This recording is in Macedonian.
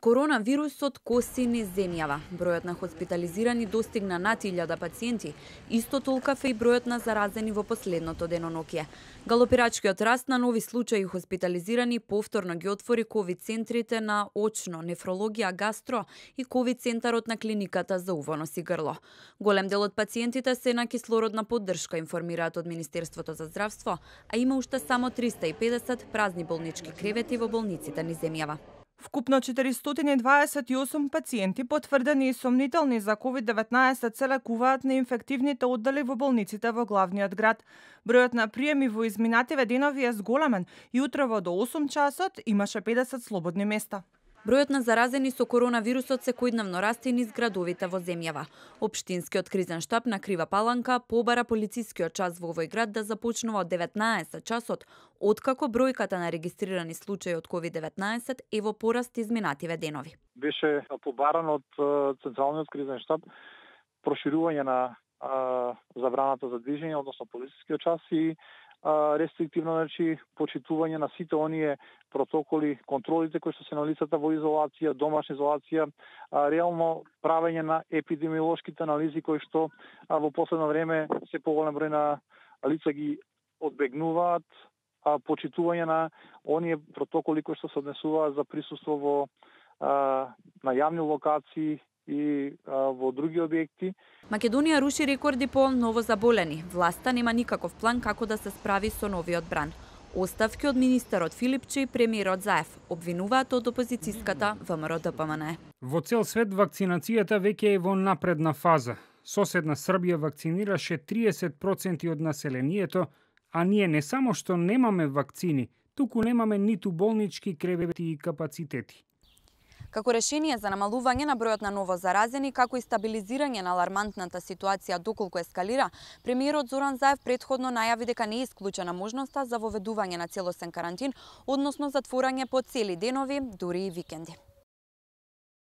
Коронавирусот коси низ земјава. Бројот на хоспитализирани достигна над 1000 пациенти, исто толкав е и бројот на заразени во последното деноноќие. Галопирачкиот раст на нови случаи хоспитализирани повторно ги отвори ковид центрите на очно, нефрологија, гастро и ковид центарот на клиниката за уво, нос и грло. Голем дел од пациентите се на кислородна поддршка, информираат од Министерството за здравство, а има уште само 350 празни болнички кревети во болниците низ земјава. Вкупно 428 пациенти потврдени и сомнителни за COVID-19 се лекуваат на инфективните оддели во болниците во главниот град. Бројот на приеми во изминативе денови е зголемен и утрово до 8 часот имаше 50 слободни места. Бројот на заразени со коронавирусот секојдневно расте низ градовите во земјава. Општинскиот кризен штаб на Крива Паланка побара полицискиот час во овој град да започнува од 19 часот, откако бројката на регистрирани случаи од COVID-19 е во пораст изминативе денови. Беше побаран од Централниот кризен штаб проширување на забраната за движење, односно полицискиот час и рестриктивно, почитување на сите оние протоколи, контролите кои што се на лицата во изолација, домашна изолација, реално правење на епидемиолошките анализи кои што во последно време се поголем број на лица ги одбегнуваат, почитување на оние протоколи кои што се однесуваат за присуство во на јавни локации и во други објекти. Македонија руши рекорди по новозаболени. Власта нема никаков план како да се справи со новиот бран. Оставки од министерот Филипчи и премиерот Заев обвинуваат од опозицијската ВМРО-ДПМН. Во цел свет вакцинацијата веќе е во напредна фаза. Соседна Србија вакцинираше 30% од населението, а ние не само што немаме вакцини, туку немаме ниту болнички кревети и капацитети. Како решение за намалување на бројот на ново заразени, како и стабилизирање на алармантната ситуација доколку ескалира, премиерот Зоран Заев претходно најави дека не е исклучена можноста за воведување на целосен карантин, односно затворање по цели денови, дури и викенди.